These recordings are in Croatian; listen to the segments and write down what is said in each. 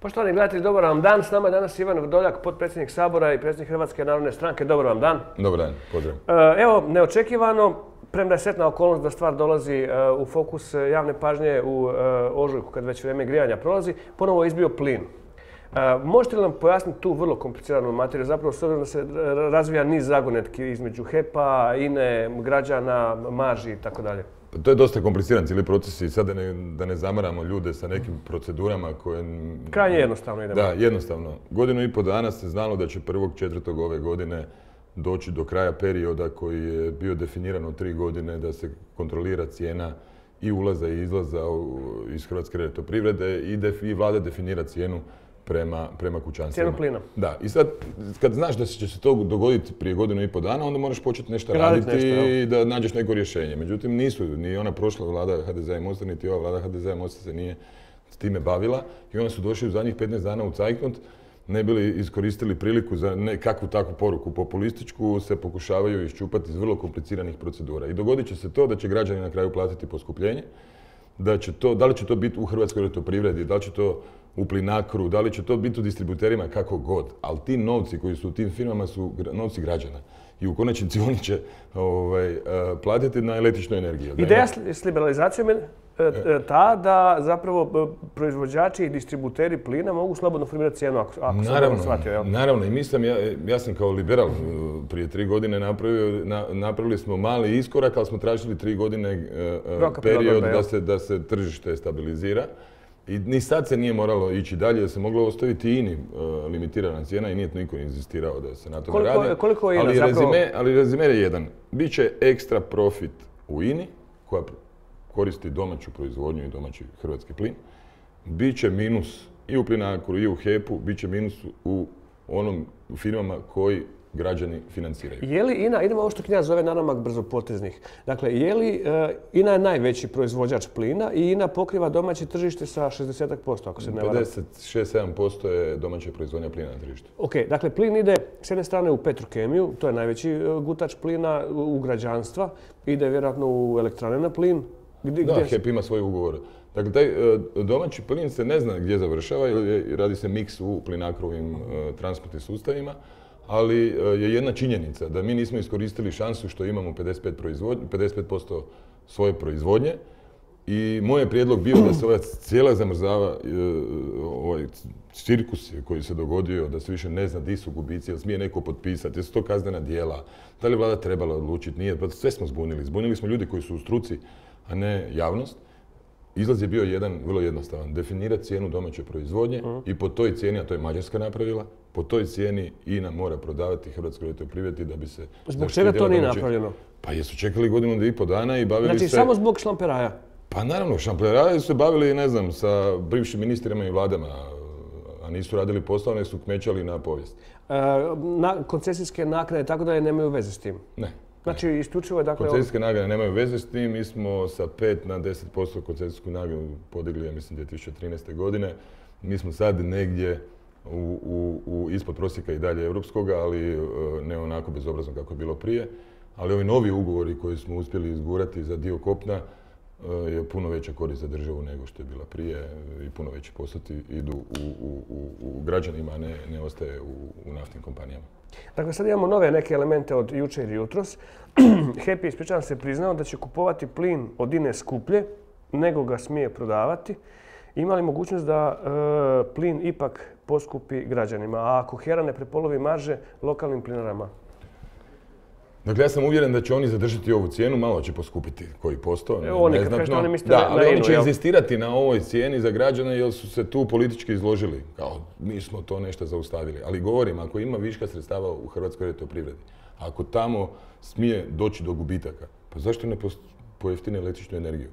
Poštovani gledatelji, dobar vam dan. S nama je danas Ivan Vrdoljak, potpredsjednik Sabora i predsjednik Hrvatske narodne stranke. Dobar vam dan. Dobar dan, pozdrav. Evo, neočekivano, premda je sretna okolnost da stvar dolazi u fokus javne pažnje u ožujku, kad već vrijeme grijanja prolazi, ponovo je izbio plin. Možete li nam pojasniti tu vrlo kompliciranu materiju, zapravo s obzirom da se razvija niz zagonetki između HEP-a, INE, građana, marži i tako dalje? To je dosta kompliciran cijeli proces i sad da ne zamaramo ljude sa nekim procedurama koje... Krajnje jednostavno idemo. Da, jednostavno. Godinu i pol dana se znalo da će 1.4. ove godine doći do kraja perioda koji je bio definiran od 3 godine da se kontrolira cijena i ulaza i izlaza iz Hrvatske elektroprivrede i vlada definira cijenu prema kućanstvima. Cijenu plina. Da, i sad kad znaš da će se to dogoditi prije godinu i pol dana, onda moraš početi nešto raditi i da nađeš neko rješenje. Međutim, ni ona prošla vlada HDZ-a i Mosta, niti ova vlada HDZ-a i Mosta se nije s time bavila i onda su došli u zadnjih 15 dana u cajtnot, ne bili iskoristili priliku za nekakvu takvu poruku populističku, se pokušavaju iščupati iz vrlo kompliciranih procedura. I dogodit će se to da će građani na kraju platiti poskupljenje, da li će to biti u Hrvatskoj elektroprivredi, da li će to u Plinacru, da li će to biti u distributerima, kako god. Ali ti novci koji su u tim firmama su novci građana. I u konačnici oni će platiti na električnu energiju. Ideja s liberalizacijom je ta da zapravo proizvođači i distributeri plina mogu slobodno formirati cijenu, ako sam dobro shvatio. Naravno, i ja sam kao liberal prije 3 godine napravili smo mali iskorak, ali smo tražili 3 godine period da se tržište stabilizira. I ni sad se nije moralo ići dalje, da se moglo ostaviti INI limitirana cijena i nije niko inzistirao da se na tome radi. Koliko je INA zapravo? Ali rezime je jedan. Biće ekstra profit u INI, koja koristi domaću proizvodnju i domaći hrvatski plin. Biće minus i u Plinacru i u HEP-u, biće minus u onom firmama koji građani financiraju. Je li INA, idemo ovo što Knjaz zove nanamak brzopoteznih, dakle, je li INA je najveći proizvođač plina i INA pokriva domaće tržište sa 60%, ako se ne varam? 56-7% je domaća proizvodnja plina na tržištu. Ok, dakle, plin ide s jedne strane u Petrokemiju, to je najveći gutač plina, u građanstva, ide vjerojatno u elektrane na plin. Da, HEP ima svoj ugovor. Dakle, taj domaći plin se ne zna gdje završava, radi se miks u Plinacrovim transportnim sustavima, ali je jedna činjenica da mi nismo iskoristili šansu što imamo 55% svoje proizvodnje i moj je prijedlog bio da se ova cijela zamrzava, ovaj cirkus koji se dogodio, da se više ne zna di su gubici, jel smije neko potpisati, jesu to kaznena djela, da li je vlada trebala odlučiti, nije, pa sve smo zbunili. Zbunili smo ljudi koji su u struci, a ne javnost. Izlaz je bio jedan, vrlo jednostavan, definirati cijenu domaće proizvodnje i po toj cijeni, a to je Mađarska napravila, po toj cijeni INA mora prodavati Hrvatskoj elektroprivredi da bi se... Zbog čega to nije napravljeno? Pa jesu čekali godinu i pol dana i bavili se... Znači samo zbog šlamperaja? Pa naravno, šlamperaja su se bavili, ne znam, sa bivšim ministrima i vladama, a nisu radili posao, nego su kmećali na povijest. Koncesijske naknade i tako dalje nemaju veze s tim? Ne. Znači, isključivo je dakle... Koncesijske naknade nemaju veze s tim, mi smo sa 5 na 10% koncesijsku naknadu podigli, ja mislim, 2013. godine. Mi smo sad negdje ispod prosjeka i dalje europskoga, ali ne onako bezobrazno kako je bilo prije. Ali ovi novi ugovori koji smo uspjeli izgurati za dio kopna je puno veća korist za državu nego što je bila prije i puno veći postoti idu u građanima, a ne ostaje u naftnim kompanijama. Dakle, sad imamo nove neke elemente od jučer i jutros. HEP je, ispričavam se, priznao da će kupovati plin od INE skuplje nego ga smije prodavati. Ima li mogućnost da plin ipak poskupi građanima, a ako HERA ne prepolovi marže lokalnim plinarama? Dakle, ja sam uvjeren da će oni zadržati ovu cijenu, malo će poskupiti koji posto, neznatno. Ali oni će inzistirati na ovoj cijeni za građane jer su se tu politički izložili. Kao, mi smo to nešto zaustavili. Ali govorim, ako ima viška sredstava u Hrvatskoj elektroprivredi, ako tamo smije doći do gubitaka, pa zašto ne pojeftine električnu energiju?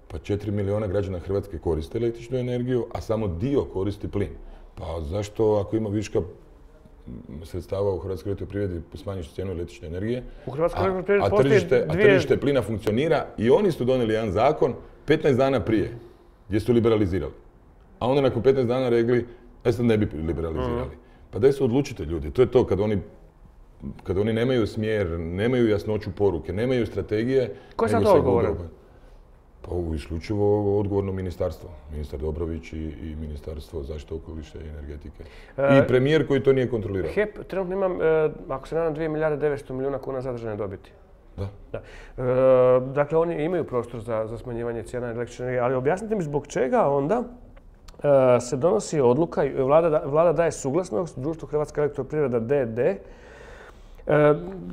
Pa 4 milijuna građana Hrvatske koriste električnu energiju, a samo dio koristi plin. Pa zašto ako ima viška sredstava u Hrvatskoj elektroprivredi smanjiš cijenu električne energije, a tržište plina funkcionira i oni su donijeli jedan zakon 15 dana prije gdje su liberalizirali. A onda nakon 15 dana rekli, sad ne bi liberalizirali. Pa daj se odlučite ljudi, to je to kad oni nemaju smjer, nemaju jasnoću poruke, nemaju strategije. Ko je sad to odgovorio? Pa isključivo odgovorno ministarstvo. Ministar Dobrović i Ministarstvo zaštite okoliša i energetike. I premijer koji to nije kontrolirao. HEP trenutno ima, ako se nadam, 2 milijarde 900 milijuna kuna zadržane dobiti. Da. Dakle, oni imaju prostor za smanjivanje cijena električne energije, ali objasnite mi zbog čega onda se donosi odluka i vlada daje suglasnost društvu Hrvatska elektroprivreda d.d.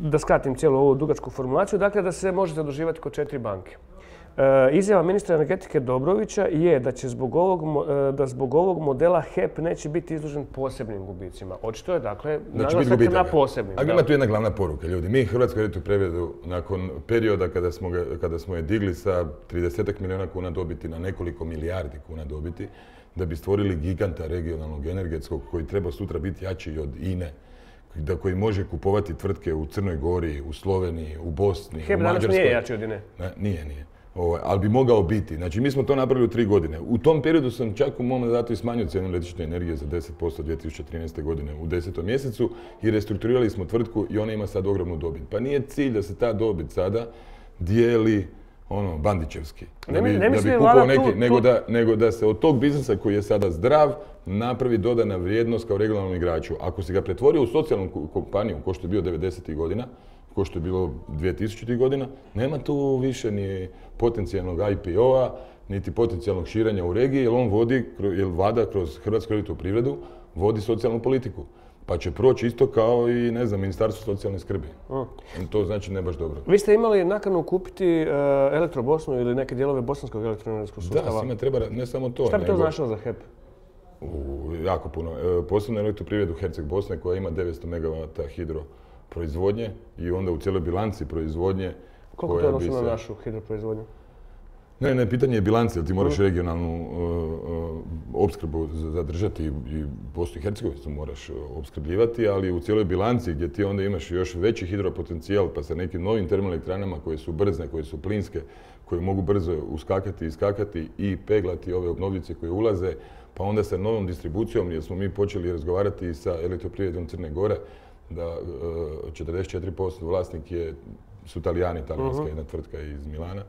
Da skratim cijelu ovu dugačku formulaciju, dakle da se može zaduživati kod 4 banke. Izjava ministra energetike Dobrovića je da će zbog ovog modela HEP neće biti izložen posebnim gubicima. Očito je, dakle, naglasak na posebnim. Ali ima tu jedna glavna poruka, ljudi. Mi Hrvatsku elektroprivredu nakon perioda kada smo je digli sa 30 milijuna kuna dobiti na nekoliko milijardi kuna dobiti, da bi stvorili giganta regionalnog energetskog koji treba sutra biti jači od INE, koji može kupovati tvrtke u Crnoj Gori, u Sloveniji, u Bosni, HEP u Mađarskoj. danas nije jači od INE. Nije. Ali bi mogao biti. Znači, mi smo to napravili u 3 godine. U tom periodu sam čak u mom mandatu i smanjio cijenu električne energije za 10% 2013. godine u 10. mjesecu i restrukturirali smo tvrtku i ona ima sad ogromnu dobit. Pa nije cilj da se ta dobit sada dijeli bandićevski. Da bi kupao neki, nego da se od tog biznisa koji je sada zdrav napravi dodana vrijednost kao regionalnom igraču. Ako si ga pretvorio u socijalnu kompaniju, ko što je bio 90. godina, ko što je bilo 2000. godina, nema tu više ni potencijalnog IPO-a, niti potencijalnog širenja u regiji, jer vlada kroz Hrvatsku elektroprivredu vodi socijalnu politiku. Pa će proći isto kao i, Ministarstvo socijalne skrbi. To znači ne baš dobro. Vi ste imali nakanu kupiti Elektro Bosnu ili neke dijelove bosanskog elektroenergetskog sustava? Da, svima treba, ne samo to. Šta bi to značilo za HEP? Jako puno. Posebno elektroprivredu Herceg Bosne koja ima 900 MW hidro proizvodnje i onda u cijeloj bilanci proizvodnje. Koliko to odnosi na našu hidroproizvodnju? Ne, pitanje je bilance, jer ti moraš regionalnu opskrbu zadržati i Bosnu i Hercegovinu moraš opskrbljivati, ali u cijeloj bilanci gdje ti onda imaš još veći hidropotencijal pa sa nekim novim termoelektranama koje su brzne, koje su plinske, koje mogu brzo uskakati, iskakati i peglati ove obnovljice koje ulaze, pa onda sa novom distribucijom, jer smo mi počeli razgovarati sa elektroprivredom Crne Gore, da 44% vlasnik su Talijani, talijanska jedna tvrtka iz Milana,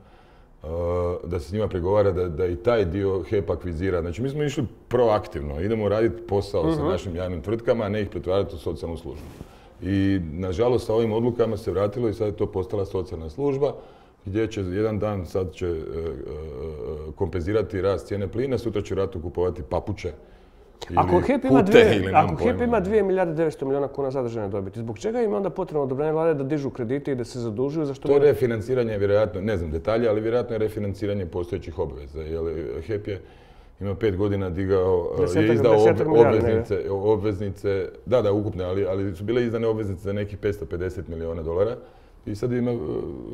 da se s njima pregovara da i taj dio HEP akvizira. Znači mi smo išli proaktivno, idemo raditi posao sa našim javnim tvrtkama, a ne ih pretvarati u socijalnu službu. I nažalost sa ovim odlukama se vratilo i sad je to postala socijalna služba gdje će jedan dan sad će kompenzirati rast cijene plina, sutra će vratno kupovati papuče. Ako HEP ima 2 milijarde 900 milijuna kuna zadržane dobiti, zbog čega ima onda potrebno odobrenje vlade da dižu kredite i da se zadužuju? To je refinanciranje, vjerojatno, ne znam detalje, ali vjerojatno je refinanciranje postojećih obveza. HEP ima 5 godina je izdao obveznice, da, ukupne, ali su bile izdane obveznice za nekih $550 milijuna i sad ima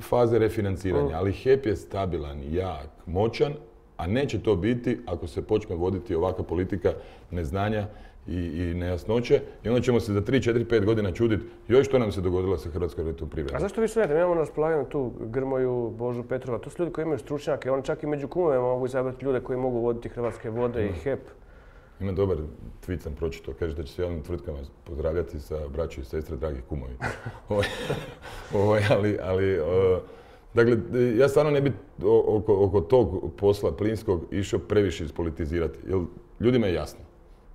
faze refinanciranja. Ali HEP je stabilan, jak, moćan, a neće to biti ako se počne voditi ovakva politika neznanja i nejasnoće. I onda ćemo se za 3, 4, 5 godina čuditi joj što nam se dogodilo sa Hrvatskom elektroprivredom. A zašto vi sumnjate? Mi imamo na raspolaganju tu Grmoju, Božu Petrova. To su ljudi koji imaju stručnjake. Oni čak i među kumovima mogu izabrati ljude koji mogu voditi Hrvatske vode i HEP. Ima dobar tweet sam pročitao. Kaže da će se javnim tvrtkama pozdravljati sa braćo i sestre, dragi kumovi. Dakle, ja stvarno ne bi oko tog posla plinskog išao previše ispolitizirati, jer ljudima je jasno.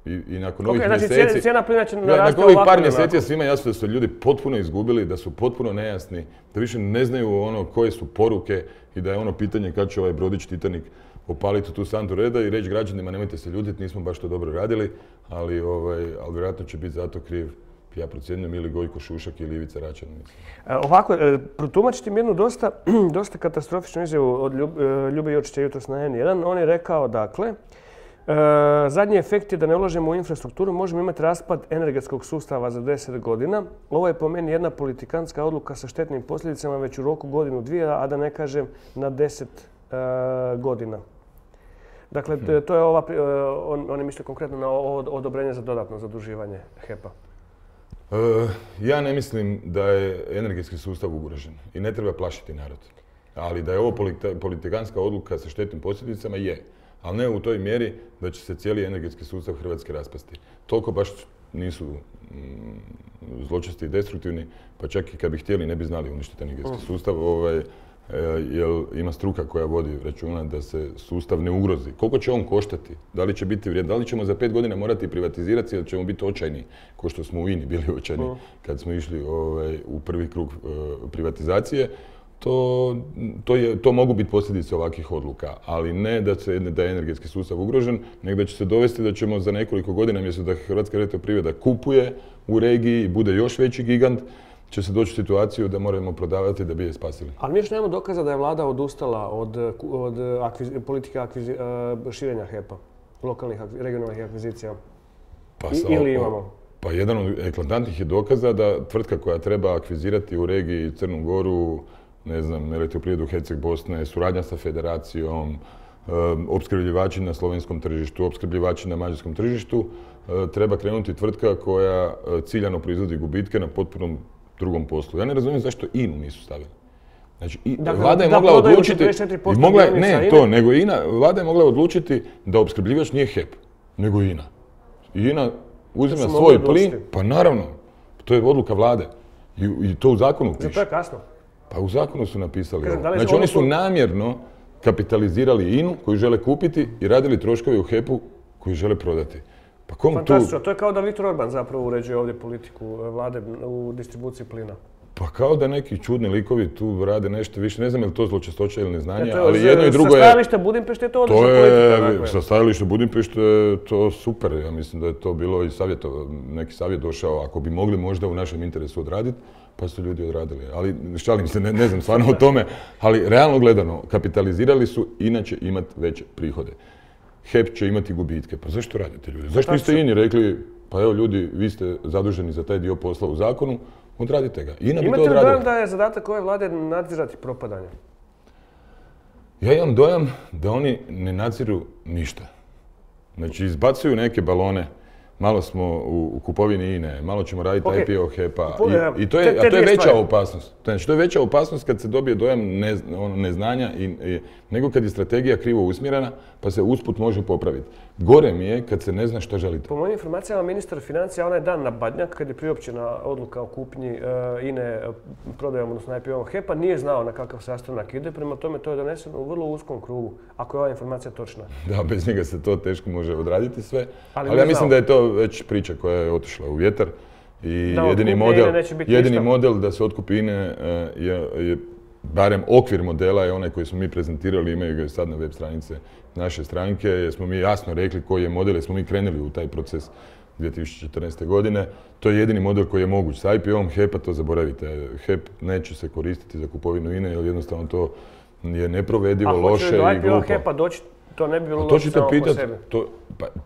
I nakon ovih mjeseci, cijena plina će narasti nakon ovih par mjeseci je svima jasno da su ljudi potpuno izgubili, da su potpuno nejasni, da više ne znaju koje su poruke i da je pitanje kad će ovaj brodić Titanik opaliti tu santu reda i reći građanima nemojte se ljutiti, nismo baš to dobro radili, ali vjerojatno će biti zato kriv, ja procjenjujem, ili Gojko Šušak ili Ivica Račan. Ovako, protumačiti mi jednu dosta katastrofičnu izjavu od Ljube Jurčića jutros na N1. On je rekao, dakle, zadnji efekt je da ne ulažemo u infrastrukturu, možemo imati raspad energetskog sustava za 10 godina. Ovo je po meni jedna politikantska odluka sa štetnim posljedicama već u roku godinu, dvije, a da ne kažem na 10 godina. Dakle, to je on je mislio konkretno na odobrenje za dodatno zaduživanje HEP-a. Ja ne mislim da je energetski sustav ugrožen i ne treba plašiti narod. Ali da je ovo politikantska odluka sa štetnim posljedicama je. Ali ne u toj mjeri da će se cijeli energetski sustav Hrvatske raspasti. Toliko baš nisu zločesti i destruktivni, pa čak i kad bi htjeli ne bi znali uništiti energetski sustav. jer ima struka koja vodi računa da se sustav ne ugrozi. Koliko će on koštati? Da li će biti vrijedan? Da li ćemo za 5 godina morati privatizirati ili ćemo biti očajni, kao što smo u INI bili očajni kad smo išli u prvi krug privatizacije? To mogu biti posljedice ovakvih odluka, ali ne da je energetski sustav ugrožen, nego da će se dovesti da ćemo za nekoliko godina, mjesto da Hrvatska elektroprivreda kupuje u regiji i bude još veći gigant, će se doći u situaciju da moramo prodavati da bi je spasili. Ali mi još nemamo dokaza da je vlada odustala od politike širenja HEP-a, lokalnih, regionalnih akvizicija. Ili imamo? Pa jedan od eklatantnih je dokaza da tvrtka koja treba akvizirati u regiji Crnu Goru, ne znam, elektroprivredu Herceg Bosne, suradnja sa federacijom, opskrbljivači na slovenskom tržištu, opskrbljivači na mađarskom tržištu, treba krenuti tvrtka koja ciljano proizvodi gubitke na potpunom drugom poslu. Ja ne razumijem zašto INA-u nisu stavili. Znači, vlada je mogla odlučiti... Vlada je mogla odlučiti da opskrbljivač nije HEP, nego INA. INA uzima svoj plin, pa naravno, to je odluka vlade. I to u zakonu piše. Zato je kasno. Pa u zakonu su napisali ovo. Znači oni su namjerno kapitalizirali INA-u koju žele kupiti i radili troškove u HEP-u koji žele prodati. Pa fantastično, to je kao da Viktor Orban zapravo uređuje ovdje politiku vlade u distribuciji plina. Pa kao da neki čudni likovi tu rade nešto više, ne znam je li to zločestoća ili neznanje, ali jedno i drugo je... Sa stajališta Budimpešte je to odlična politika. Sa stajališta Budimpešte je to super, ja mislim da je to bilo i neki savjet došao, ako bi mogli možda u našem interesu odraditi, pa su ljudi odradili. Ali šalim se, ne znam stvarno o tome, ali realno gledano, kapitalizirali su, inače imati veće prihode. HEP će imati gubitke. Pa zašto radite ljudi? Zašto niste INA-i rekli, pa evo ljudi, vi ste zaduženi za taj dio posla u zakonu, odradite ga. INA bi to odradila. Imate li dojam da je zadatak ove vlade nadzirati propadanje? Ja imam dojam da oni ne nadziru ništa. Znači, izbacuju neke balone, malo smo u kupovini INA-e, malo ćemo raditi IPO HEP-a i to je veća opasnost. Znači, to je veća opasnost kad se dobije dojam neznanja nego kad je strategija krivo usmjerena pa se usput može popraviti. Gore mi je kad se ne zna što želite. Po mojim informacijama, ministar financija onaj dan na Badnjak, kad je priopćena odluka o kupnji INA-e prodajom, odnosno IPO HEP-a, nije znao na kakav sastanak ide, prema tome to je doneseno u vrlo uskom krugu, ako je ova informacija točna. Da, bez njega se to teško može odraditi sve, ali ja mislim da je to već priča koja je otišla u vjetar i jedini model da se otkupi INA je barem okvir modela je onaj koji smo mi prezentirali, imaju ga sad na web stranice naše stranke, jer smo mi jasno rekli koji je model, jer smo mi krenuli u taj proces 2014. godine. To je jedini model koji je moguć. Sa IPO-om HEP-a to zaboravite. HEP neće se koristiti za kupovinu INA-e, jer jednostavno to je neprovedivo, loše i glupo. A hoće li do IPO HEP-a doći? To ne bi bilo loše samo po sebi.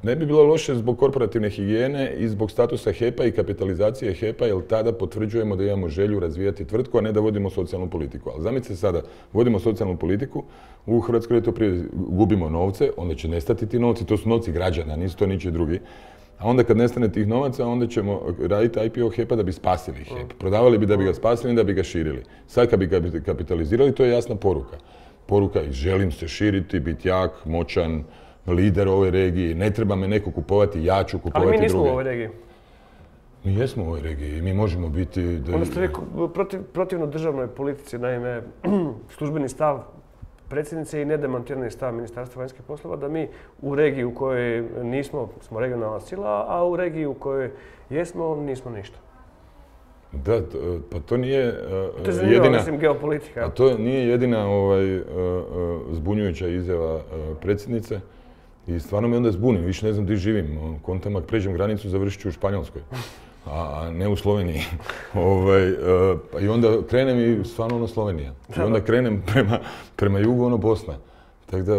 Ne bi bilo loše zbog korporativne higijene i zbog statusa HEP-a i kapitalizacije HEP-a, jer tada potvrđujemo da imamo želju razvijati tvrtku, a ne da vodimo socijalnu politiku. Ali zamislite sada, vodimo socijalnu politiku, u Hrvatskoj elektroprivredi gubimo novce, onda će nestati ti novci, to su novci građana, nisu to ničiji drugi. A onda kad nestane tih novaca, onda ćemo raditi IPO HEP-a da bi spasili HEP. Prodavali bi da bi ga spasili i da bi ga širili. Sad kad bi ga kapitalizirali, to je jasna poruka. Poruka je želim se širiti, biti jak, moćan, lider ove regiji, ne treba me neko kupovati, ja ću kupovati druge. Ali mi nismo u ovoj regiji. Mi jesmo u ovoj regiji i mi možemo biti... Onda ste vi protivno državnoj politici, naime, službeni stav predsjednice i nedemontirani stav Ministarstva vanjskih poslova da mi u regiji u kojoj nismo, smo regionalna sila, a u regiji u kojoj jesmo, nismo ništa. Da, pa to nije to je zanimljivo, mislim, geopolitika. A to nije jedina zbunjujuća izjava predsjednice i stvarno me onda zbunim, više ne znam gdje živim. Kontam, ako pređem granicu, završit ću u Španjolskoj, a ne u Sloveniji. I onda krenem i stvarno ono Slovenija. I onda krenem prema jugu, ono Bosna. Tako da,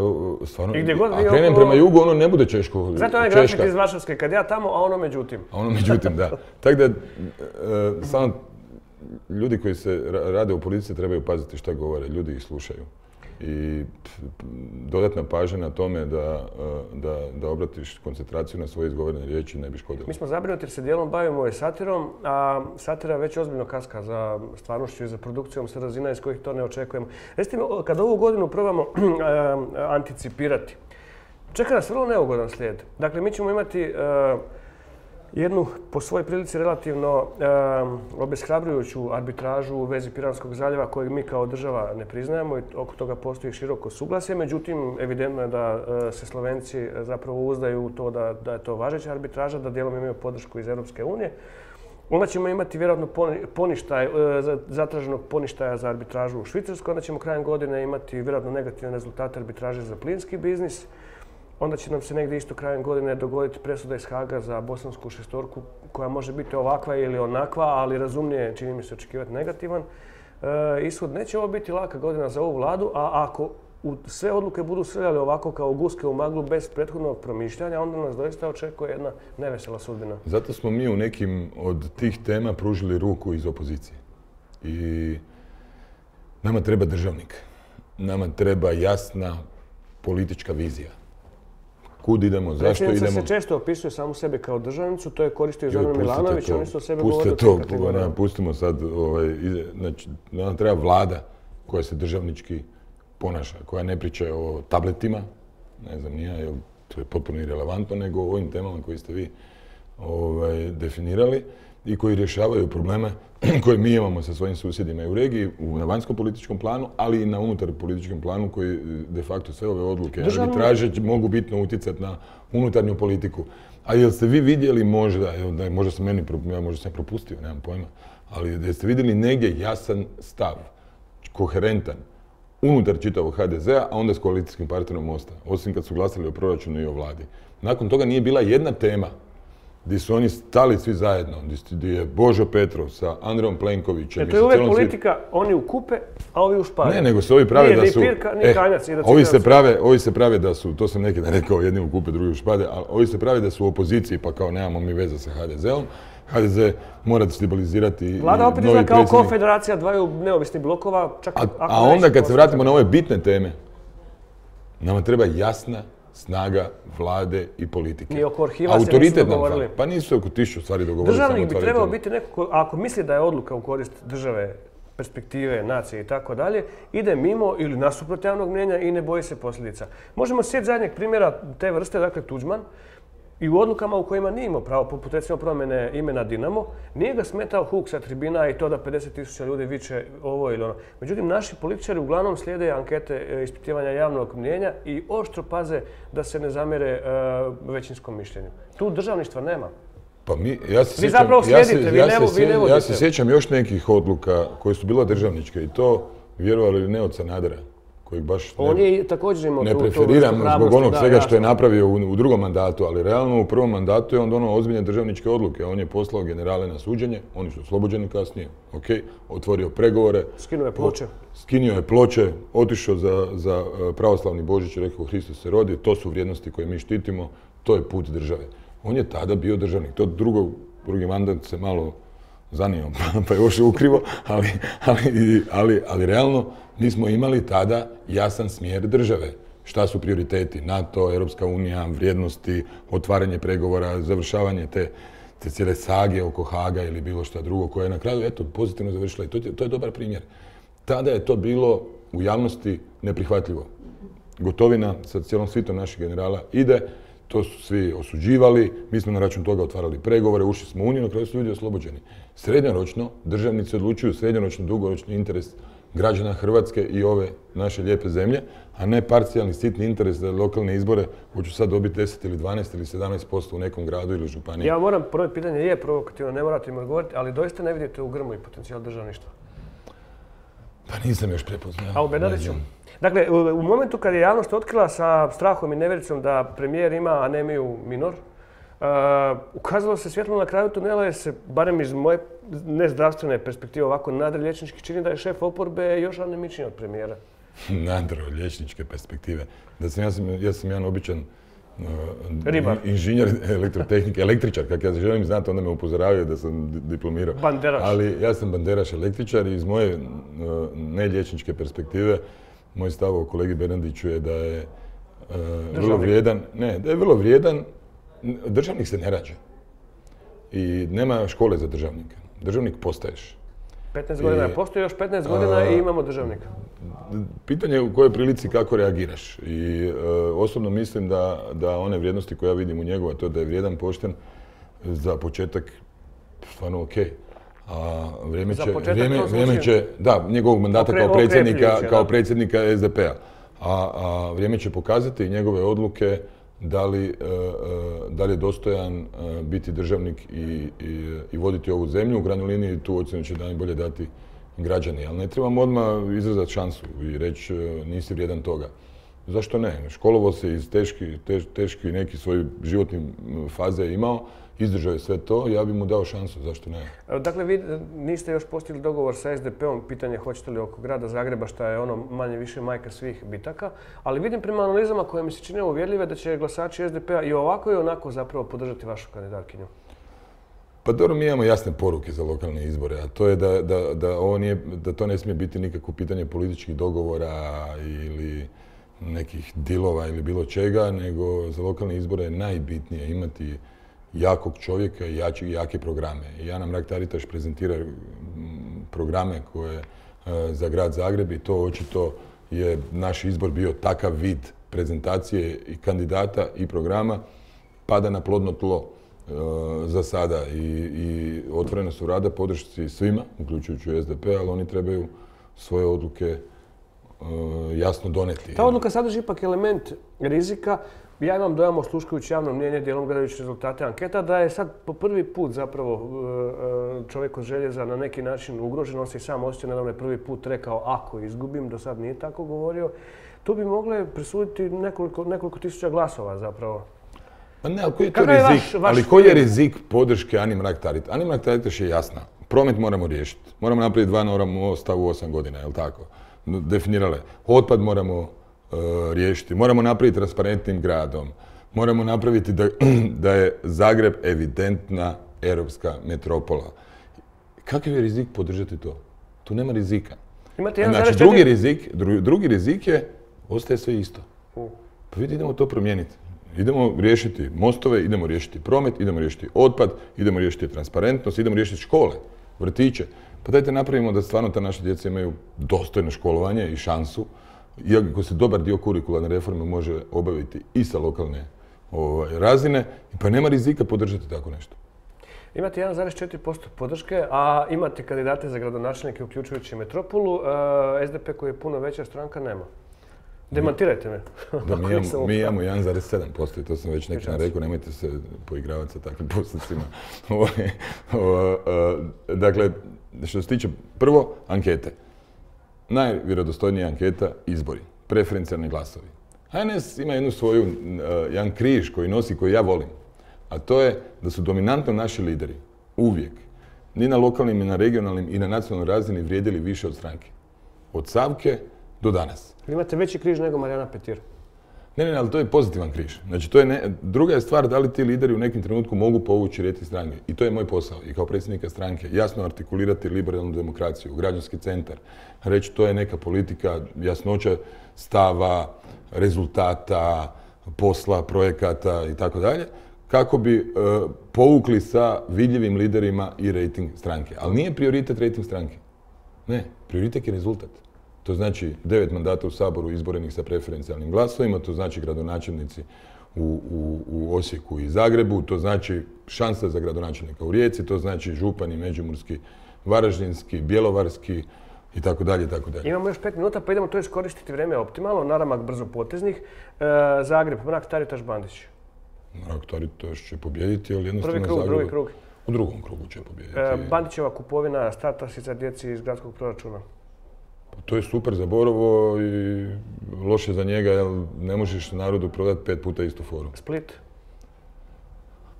stvarno, a krenem prema jugu, ono ne bude Češko. Znate onaj grafik iz Varšavske, kad ja tamo, a ono međutim. A ono međutim, da. Tako da, samo ljudi koji se rade u politici trebaju paziti šta govore, ljudi ih slušaju. I dodatna pažnja na tome da obratiš koncentraciju na svoje izgovorene riječi ne bi škodilo. Mi smo zabrinuti jer se dijelom bavimo satirom, a satira već ozbiljno kaska za stvarnošću i za produkcijom sa razina iz kojih to ne očekujemo. Recite mi, kad ovu godinu probamo anticipirati, čeka nas vrlo neugodan slijed. Dakle, mi ćemo imati jednu po svojoj prilici relativno obeshrabrujuću arbitražu u vezi Piranskog zaljeva kojeg mi kao država ne priznajemo i oko toga postoji široko suglasje. Međutim, evidentno je da se Slovenci zapravo uzdaju u to da je to važeća arbitraža, da dijelom imaju podršku iz Europske unije. Onda ćemo imati vjerojatno zatraženog poništaja za arbitražu u Švicarskoj. Onda ćemo krajem godine imati vjerojatno negativne rezultate arbitraže za plinski biznis. Onda će nam se negdje isto krajem godine dogoditi presuda iz Haga za bosansku šestorku koja može biti ovakva ili onakva, ali razumnije čini mi se očekivati negativan ishod. Neće ovo biti laka godina za ovu vladu, a ako sve odluke budu srljale ovako kao guske u maglu bez prethodnog promišljanja, onda nas doista očekuje jedna nevesela sudbina. Zato smo mi u nekim od tih tema pružili ruku iz opozicije. I nama treba državnik. Nama treba jasna politička vizija. Kud idemo, zašto idemo? Predsjednica se često opisuje samu sebe kao državnicu, to je koristio Zoran Milanović, oni su o sebe govorili u tim kategorijama. Pustimo sad, znači, nam treba vlada koja se državnički ponaša, koja ne priča o tabletima, ne znam nija, jer to je potpuno irelevantno, nego o ovim temama koje ste vi definirali i koji rješavaju probleme koje mi imamo sa svojim susjedima i u regiji, na vanjskom političkom planu, ali i na unutar političkom planu koji de facto sve ove odluke arbitraže mogu bitno utjecati na unutarnju politiku. A jel ste vi vidjeli možda sam propustio, nemam pojma, ali jeste vidjeli negdje jasan stav, koherentan, unutar čitavog HDZ-a, a onda s koalicijskim partnerom Mosta, osim kad su glasali o proračunu i o vladi. Nakon toga nije bila jedna tema gdje su oni stali svi zajedno, gdje je Božo Petrov sa Andrejom Plenkovićem. To je uvijek politika, oni ukupe, a ovi ušpare. Ne, nego se ovi prave da su... Nije ni pirka, ni kanjac. Ovi se prave da su, to sam neki dan rekao, jedni ukupe, drugi ušpade, ali ovi se prave da su u opoziciji, pa kao nemamo mi veze sa HDZ-om. HDZ mora stabilizirati. Vlada opet izgleda kao konfederacija dvaju neovisnih blokova. A onda kad se vratimo na ove bitne teme, nama treba jasna snaga vlade i politike. I oko arhiva se nisu dogovorili. Pa nisu oko 1000 stvari dogovorili. Državnik bi trebao biti neko, ako misli da je odluka u korist države, perspektive, nacije i tako dalje, ide mimo ili nasuprot javnog mnijenja i ne boji se posljedica. Možemo sjetiti zadnjeg primjera te vrste, dakle Tuđman, i u odlukama u kojima nije imao pravo, poput recimo promjene imena Dinamo, nije ga smetao huk sa tribina i to da 50.000 ljudi viče ovo ili ono. Međutim, naši političari uglavnom slijede ankete ispitivanja javnog mnijenja i oštro paze da se ne zamjere većinskom mišljenju. Tu državništva nema. Pa vi zapravo slijedite, vi ne vodite. Ja se sjećam još nekih odluka koje su bila državničke i to, vjerovali ili ne, od Sanadera, kojeg baš ne preferiram zbog onog svega što je napravio u drugom mandatu, ali realno u prvom mandatu je on donio ozbiljne državničke odluke. On je poslao generale na suđenje, oni su oslobođeni kasnije, otvorio pregovore. Skinuo je ploče, otišao za pravoslavni Božić i rekao Hristos se rodi, to su vrijednosti koje mi štitimo, to je put države. On je tada bio državnik. To drugi mandat se malo zanio, pa je ošao ukrivo, ali realno nismo imali tada jasan smjer države. Šta su prioriteti? NATO, Europska unija, vrijednosti, otvaranje pregovora, završavanje te cijele sage oko Haga ili bilo šta drugo koje je na kraju pozitivno završila i to je dobar primjer. Tada je to bilo u javnosti neprihvatljivo. Gotovina sa cijelom svitom naših generala ide, to su svi osuđivali, mi smo na račun toga otvarali pregovore, ušli smo u Uniju, na kraju su ljudi oslobođeni. Srednjoročno, državnici odlučuju srednjoročno, dugoročni interes građana Hrvatske i ove naše lijepe zemlje, a ne parcijalni sitni interes za lokalne izbore, hoću sad dobiti 10 ili 12 ili 17% u nekom gradu ili županiji. Ja moram, prvo pitanje je provokativno, ne morate im odgovoriti, ali doista ne vidite u Grmoji potencijal državništva? Pa nisam još prepoznao. A u Bernardiću? Dakle, u momentu kad je javnost otkrila sa strahom i nevjericom da premijer ima anemiju minor, ukazalo se svjetlo na kraju tunela jer se, barem iz moje nezdravstvene perspektive ovako nadrelječnički čini da je šef oporbe još anemičniji od premijera. Nadrelječničke perspektive. Ja sam jedan običan inženjer elektrotehnike, električar, kako ja želim znati, onda me upozoravaju da sam diplomirao. Banderaš. Ali ja sam banderaš električar i iz moje nelječničke perspektive moj stav o kolegi Bernardiću je da je vrlo vrijedan. Ne, da je vrlo vrijedan. Državnik se ne rađa. I nema škole za državnika. Državnik postaješ. 15 godina je postoji, još 15 godina i imamo državnika. Pitanje je u kojoj prilici kako reagiraš. I osobno mislim da one vrijednosti koje ja vidim u njegu, a to je da je vrijedan, pošten, za početak stvarno ok. A vrijeme će, da, njegovog mandata kao predsjednika SDP-a. A vrijeme će pokazati njegove odluke da li je dostojan biti državnik i voditi ovu zemlju. U krajnjoj liniji tu ocjenu će najbolje dati građani, ali ne trebamo odmah izrazati šansu i reći nisi vrijedan toga. Zašto ne? Školovao se iz teški neki svoj životni faze je imao, izdržao je sve to, ja bi mu dao šansu, zašto ne? Dakle, vi niste još postigli dogovor sa SDP-om, pitanje hoćete li oko grada Zagreba, što je ono manje više majka svih bitaka, ali vidim prema analizama koje mi se čine uvjerljive da će glasači SDP-a i ovako i onako zapravo podržati vašu kandidatkinju. Pa dobro, mi imamo jasne poruke za lokalne izbore, a to je da to ne smije biti nikakvo pitanje političkih dogovora ili nekih dilova ili bilo čega, nego za lokalne izbore je najbitnije imati jakog čovjeka i jake programe. I Ana Mrak-Taritaš prezentira programe koje za grad Zagreb i to očito je naš izbor bio takav vid prezentacije i kandidata i programa, pada na plodno tlo za sada i otvorena su rada podršci svima, uključujući SDP, ali oni trebaju svoje odluke jasno doneti. Ta odluka sadrži ipak element rizika. Ja imam dojam, osluškujući javno mnjenje, dijelom gledajući rezultate anketa, da je sad po prvi put zapravo čovjek od željeza na neki način ugrožen. On se i sam osjeća, nedavno je prvi put rekao ako izgubim, do sad nije tako govorio. Tu bi mogle presuditi nekoliko tisuća glasova zapravo. Pa ne, ali koji je to rizik? Ali koji je rizik podrške Ani Mrak-Taritaš? Ani Mrak-Taritaš je jasna. Promet moramo riješiti. Moramo napraviti 2 nova mosta u 8 godina, je li tako? Definirale. Otpad moramo riješiti. Moramo napraviti transparentnim gradom. Moramo napraviti da je Zagreb evidentna europska metropola. Kakav je rizik podržati to? Tu nema rizika. Znači, drugi rizik je, ostaje sve isto. Pa vidite, idemo to promijeniti. Idemo riješiti mostove, idemo riješiti promet, idemo riješiti otpad, idemo riješiti transparentnost, idemo riješiti škole, vrtiće. Pa dajte napravimo da stvarno ta naša djeca imaju dostojno školovanje i šansu, iako se dobar dio kurikularne reforme može obaviti i sa lokalne razine, pa nema rizika podržati tako nešto. Imate 1,4% podrške, a imate kandidate za gradonačelnike uključujući Metropolu. SDP koji je puno veća stranka nema. Demantirajte me. Mi imamo 1,7% i to sam već nekada rekao, nemojte se poigravati sa takvim postocima. Dakle, što se tiče prvo, ankete. Najvjerodostojnija anketa, izbori, preferencijalni glasovi. HNS ima jedan križ koji nosi, koji ja volim, a to je da su dominantno naši lideri uvijek, ni na lokalnim, ni na regionalnim i na nacionalnoj razini vrijedili više od stranke. Od Savke do danas. Imate veći križ nego Marijana Petir. Ne, ali to je pozitivan križ. Znači, druga je stvar da li ti lideri u nekim trenutku mogu povući rejting stranke. I to je moj posao. I kao predsjednika stranke jasno artikulirati liberalnu demokraciju, građanski centar. Reći to je neka politika, jasnoća stava, rezultata, posla, projekata i tako dalje, kako bi povukli sa vidljivim liderima i rejting stranke. Ali nije prioritet rejting stranke. Ne, prioritet je rezultat. To znači 9 mandata u Saboru izborenih sa preferencijalnim glasovima, to znači gradonačelnici u Osijeku i Zagrebu, to znači šansa za gradonačelnika u Rijeci, to znači župani međimurski, varaždinski, bjelovarski i tako dalje, i tako dalje. Imamo još 5 minuta, pa idemo to iskoristiti vrijeme optimalno, naramak brzo poteznih. Zagreb, Mrak-Taritaš, Bandić. Mrak-Taritaš će pobijediti, ali jednostavno Zagreb... Drugi krug. U drugom krugu će pobijediti. Bandićeva kupovina startasica djeci iz gradskog proračuna. To je super za Borovo i loše za njega, jer ne možeš narodu prodati 5 puta istu foru. Split?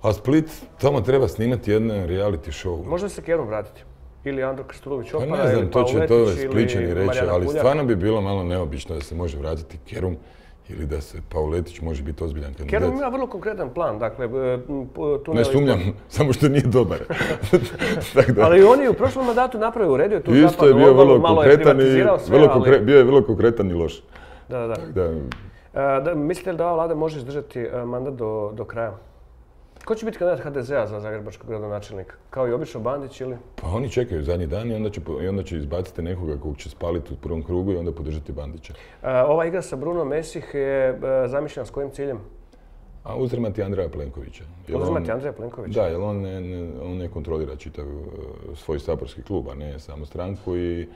A Split, tamo treba snimati jedan reality show. Može se Kerum vratiti? Ili Andro Krstulović Opara, pa ne znam, to će to Splićani reći, ali stvarno bi bilo malo neobično da se može vratiti Kerum ili da se Pavletić može biti ozbiljan kandidat. Kerum ima vrlo konkretan plan, dakle... Ne sumnjam, samo što nije dobar. Ali on je u prošlom mandatu napravio, uredio tu zapadnu obalu, malo je privatizirao sve, ali... Bio je vrlo konkretan i loš. Da. Mislite li da ova vlada može izdržati mandat do kraja? Ko će biti kandidat HDZ-a za zagrebačkog gradonačelnika? Kao i obično Bandić ili? Pa oni čekaju zadnji dan i onda će izbaciti nekoga kog će spaliti u prvom krugu i onda podržati Bandića. Ova igra sa Bruno Mesih je zamišljena s kojim ciljem? A uzimati Andreja Plenkovića. Uzimati Andreja Plenkovića? Da, jer on ne kontrolira čitav svoj saborski klub, a ne samo stranku i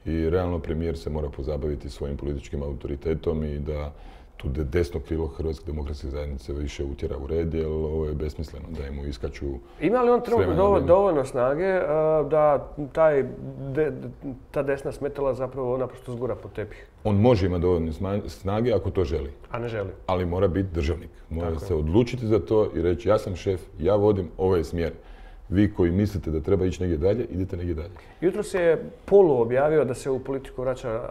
realno premijer se mora pozabaviti svojim političkim autoritetom i da tu desno krilo Hrvatske demokratske zajednice više utjera u red, jer ovo je besmisleno da mu iskaču... Ima li on trenutno dovoljno snage da ta desna smetala zapravo naprosto zgura pod tepih? On može imati dovoljno snage ako to želi. A ne želi. Ali mora biti državnik. Mora se odlučiti za to i reći ja sam šef, ja vodim, ovo je smjer. Vi koji mislite da treba ići negdje dalje, idite negdje dalje. Jutros je polu objavio da se u politiku vraća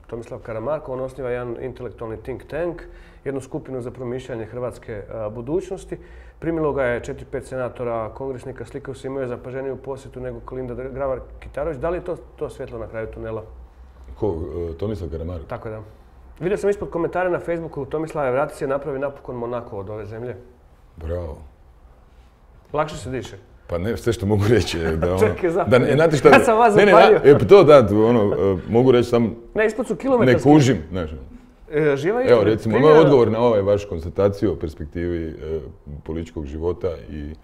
Tomislav Karamarko. On osniva jedan intelektualni think tank, jednu skupinu za promišljanje hrvatske budućnosti. Primilo ga je 4-5 senatora, kongresnika, slikaju se, imaju zapaženiju posjetu nego Kolinda Grabar-Kitarović. Da li je to svjetlo na kraju tunela? Ko? Tomislav Karamarko? Tako da. Vidio sam ispod komentara na Facebooku, Tomislave, vrati se, napravi napokon Monako od ove zemlje. Bravo. Lakše se diše. Pa ne, sve što mogu reći je da ono... Čekaj, zapalje. Ja sam vas zapalio. To da, mogu reći sam... Ne, ispod su kilometarski. Ne kužim, znaš. Živa istina. Evo, recimo, moj odgovor na ovaj vaš konstataciju o perspektivi političkog života i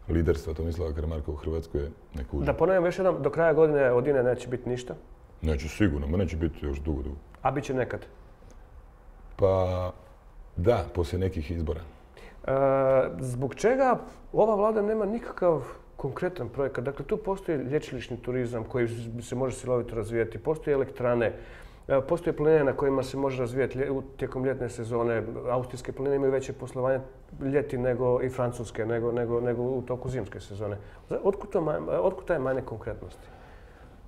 liderstva Tomislava Karamarka u Hrvatskoj je ne kužim. Da ponovim još jednom, do kraja godine od INE neće biti ništa? Neće sigurno, ma neće biti još dugo. A bit će nekad? Pa da, poslije nekih izbora. Zbog čega ova vlada nema nikakav konkretan projekat? Dakle, tu postoji lječilišni turizam koji se može silovito razvijati, postoje elektrane, postoje planine na kojima se može razvijati tijekom ljetne sezone. Austrijske planine imaju veće poslovanje ljeti nego i francuske, nego u toku zimske sezone. Otkud taj manjak konkretnosti?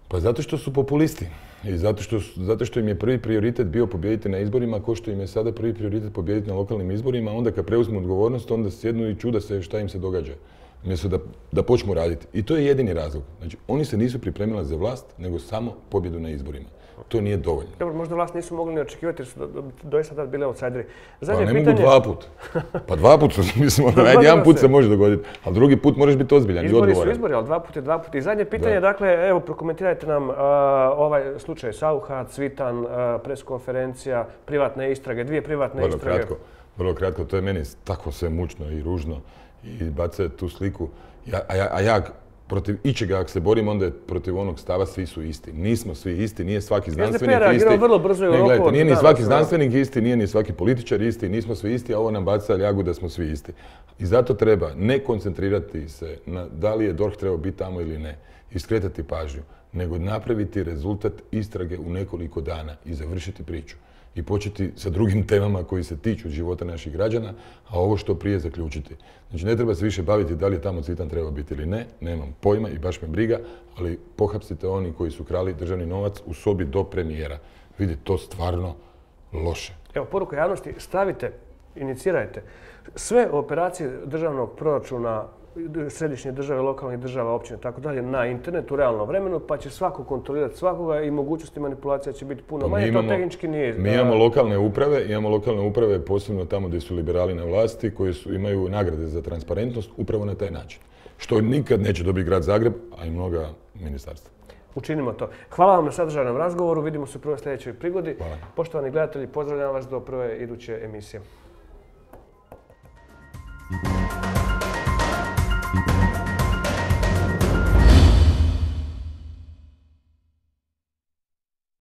Pa zato što su populisti i zato što im je prvi prioritet bio pobijediti na izborima, kao što im je sada prvi prioritet pobijediti na lokalnim izborima, onda kad preuzmu odgovornost, onda sjednu i čuda se šta im se događa. Umjesto da počnu raditi. I to je jedini razlog. Znači, oni se nisu pripremili za vlast, nego samo pobjedu na izborima. To nije dovoljno. Dobro, možda vlast nisu mogli ni očekivati jer su doista tad bili outsideri. Pa ne mogu dva put. Pa dva put, mislim, jedan put se može dogoditi, ali drugi put moraš biti ozbiljan i odgovoran. Izbori su izbori, ali dva put je dva put. I zadnje pitanje, dakle, evo, prokomentirajte nam ovaj slučaj Saucha, Cvitan, preskonferencija, privatne istrage, dvije privatne istrage. Vrlo kratko, to je meni tako sve mučno i ružno i baca tu sliku. A ja protiv ičega, ako se borim, onda je protiv onog stava svi su isti. Nismo svi isti, nije svaki znanstvenik isti. Vrlo brzo u roku. Nije ni svaki znanstvenik isti, nije ni svaki političar isti, nismo svi isti, a ovo nam baca ljagu da smo svi isti. I zato treba ne koncentrirati se na da li je DORH trebao biti tamo ili ne, i skretati pažnju, nego napraviti rezultat istrage u nekoliko dana i završiti priču. I početi sa drugim temama koji se tiču života naših građana, a ovo što prije zaključiti. Znači, ne treba se više baviti da li je tamo Cvitan trebao biti ili ne, nemam pojma i baš me briga, ali pohapsite oni koji su krali državni novac u sobi do premijera. Vidite, to stvarno loše. Evo, poruka javnosti, stavite, inicirajte sve operacije državnog proračuna središnje države, lokalnih država, općine, tako dalje, na internetu u realnom vremenu, pa će svako kontrolirati svakoga i mogućnosti manipulacija će biti puno manje. To tehnički nije... Mi imamo lokalne uprave, posebno tamo gdje su liberali na vlasti, koji imaju nagrade za transparentnost upravo na taj način. Što nikad neće dobiti grad Zagreb, a i mnoga ministarstva. Učinimo to. Hvala vam na sadržajnom razgovoru, vidimo se u prvoj sljedećoj prigodi. Hvala. Poštovani gledatelji, pozdravljam vas do prve iduće emisije.